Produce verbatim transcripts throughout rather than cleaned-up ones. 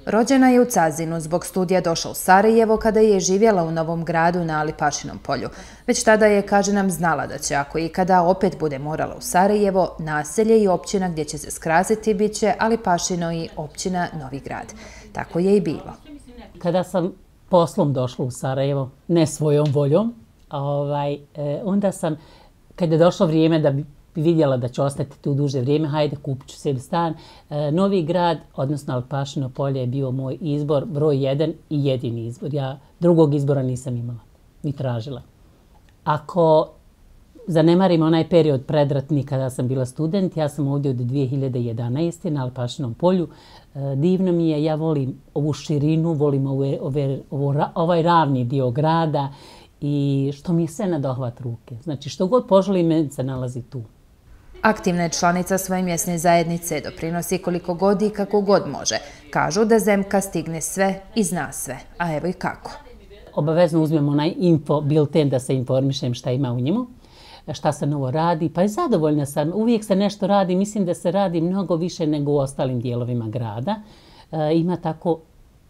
Rođena je u Cazinu, zbog studija došla u Sarajevo kada je živjela u Novom Gradu na Alipašinom polju. Već tada je, kaže nam, znala da će, ako ikada opet bude morala u Sarajevo, naselje i općina gdje će se skrasiti bit će Alipašino i općina Novi Grad. Tako je i bilo. Kada sam poslom došla u Sarajevo, ne svojom voljom, ovaj, onda sam, kada je došlo vrijeme da bi vidjela da ću ostati tu duže vrijeme, hajde kupit ću sebi stan. Novi Grad, odnosno Alipašino polje je bio moj izbor, broj jedan i jedini izbor. Ja drugog izbora nisam imala, ni tražila. Ako zanemarim onaj period predratni kada sam bila student, ja sam ovdje od dvije hiljade jedanaeste. na Alipašinom polju. Divno mi je, ja volim ovu širinu, volim ove, ove, ovo, ovaj ravni dio grada i što mi je sve na dohvat ruke. Znači što god poželim, meni se nalazi tu. Aktivna je članica svoje mjesne zajednice, doprinosi koliko god i kako god može. Kažu da Zemka stigne sve i zna sve, a evo i kako. Obavezno uzmem onaj info bilten da se informišem šta ima u njemu, šta se novo radi, pa je zadovoljna sam. Uvijek se nešto radi, mislim da se radi mnogo više nego u ostalim dijelovima grada. E, ima tako,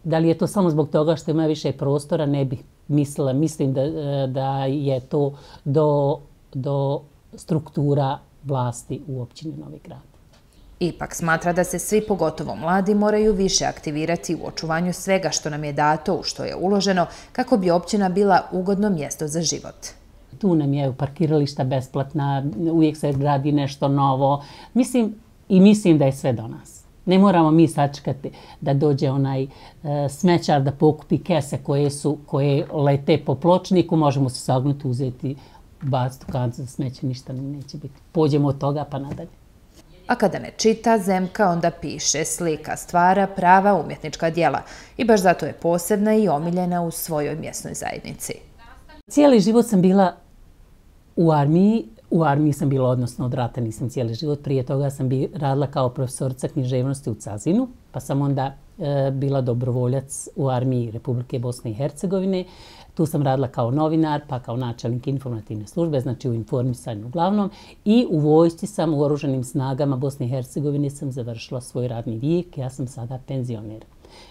da li je to samo zbog toga što ima više prostora, ne bih mislila. Mislim da, da je to do, do struktura vlasti u općini Novi Grad. Ipak smatra da se svi, pogotovo mladi, moraju više aktivirati u očuvanju svega što nam je dato, u što je uloženo, kako bi općina bila ugodno mjesto za život. Tu nam je parkirališta besplatna, uvijek se gradi nešto novo. Mislim i mislim da je sve do nas. Ne moramo mi sačekati da dođe onaj e, smećar da pokupi kese koje, su, koje lete po pločniku, možemo se sagnuti, uzeti, baciti u kancu za smeće, ništa nam neće biti. Pođemo od toga pa nadalje. A kada ne čita, Zemka onda piše, slika, stvara prava umjetnička djela i baš zato je posebna i omiljena u svojoj mjesnoj zajednici. Cijeli život sam bila u armiji. U armiji sam bila, odnosno od rata nisam cijeli život. Prije toga sam bi radila kao profesorica književnosti u Cazinu, pa sam onda e, bila dobrovoljac u armiji Republike Bosne i Hercegovine. Tu sam radila kao novinar, pa kao načelnik informativne službe, znači u informisanju uglavnom. I u vojsci sam, u oružanim snagama Bosne i Hercegovine sam završila svoj radni vijek. Ja sam sada penzioner.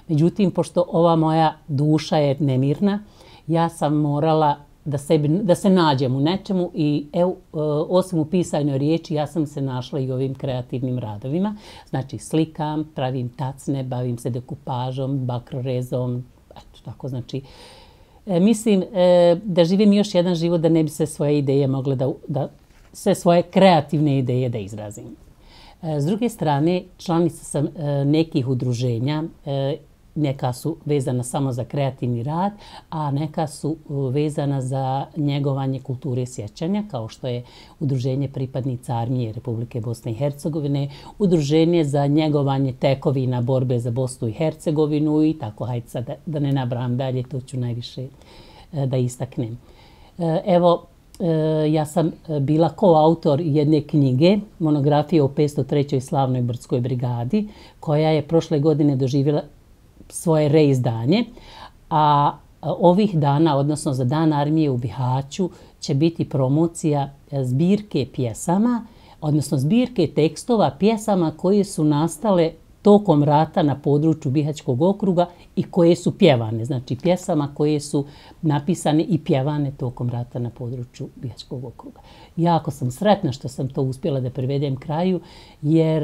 Međutim, pošto ova moja duša je nemirna, ja sam morala da, sebi, da se nađem u nečemu i evo, osim u pisanoj riječi, ja sam se našla i ovim kreativnim radovima. Znači slikam, pravim tacne, bavim se dekupažom, bakrorezom, eto tako, znači e, mislim e, da živim još jedan život da ne bi se svoje ideje mogle da, da sve svoje kreativne ideje da izrazim. E, s druge strane, članica sam e, nekih udruženja, e, neka su vezana samo za kreativni rad, a neka su vezana za njegovanje kulture sjećanja, kao što je Udruženje pripadnica armije Republike Bosne i Hercegovine, Udruženje za njegovanje tekovina borbe za Bosnu i Hercegovinu i tako, hajde sad da, da ne nabrajam dalje, to ću najviše da istaknem. Evo, ja sam bila koautor jedne knjige, monografije o petsto trećoj slavnoj brdskoj brigadi, koja je prošle godine doživjela svoje reizdanje, a ovih dana, odnosno za Dan armije u Bihaću, će biti promocija zbirke pjesama, odnosno zbirke tekstova pjesama koje su nastale tokom rata na području Bihaćkog okruga i koje su pjevane. Znači pjesama koje su napisane i pjevane tokom rata na području Bihaćkog okruga. Jako sam sretna što sam to uspjela da privedem kraju, jer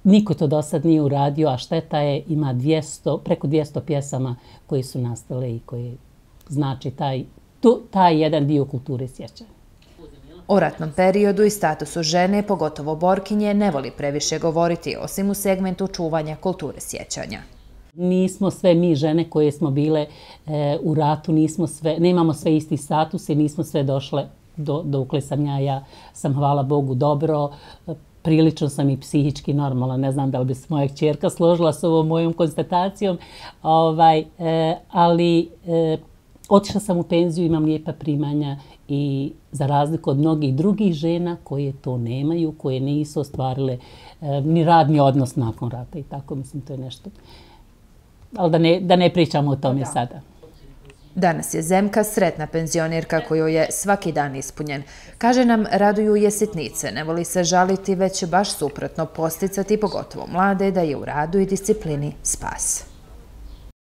niko to do sad nije uradio, a šteta je, ima dvjesto, preko dvjesto pjesama koje su nastale i koje znači taj, tu, taj jedan dio kulture sjećanja. O ratnom periodu i statusu žene, pogotovo borkinje, ne voli previše govoriti, osim u segmentu čuvanja kulture sjećanja. Nismo sve mi žene koje smo bile e, u ratu, nismo sve, nemamo sve isti status i nismo sve došle do, dokle sam ja, ja sam, hvala Bogu, dobro, prilično sam i psihički normalna, ne znam da li bi se moja kćerka složila s ovom mojom konstatacijom, ovaj, e, ali e, otišla sam u penziju, imam lijepa primanja i za razliku od mnogih drugih žena koje to nemaju, koje nisu ostvarile e, ni radni odnos nakon rata i tako, mislim, to je nešto. Ali da ne, da ne pričamo o tome sada. Danas je Zemka sretna penzionerka kojoj je svaki dan ispunjen. Kaže nam, raduju je sitnice, ne voli se žaliti, već baš suprotno posticati, pogotovo mlade, da je u radu i disciplini spas.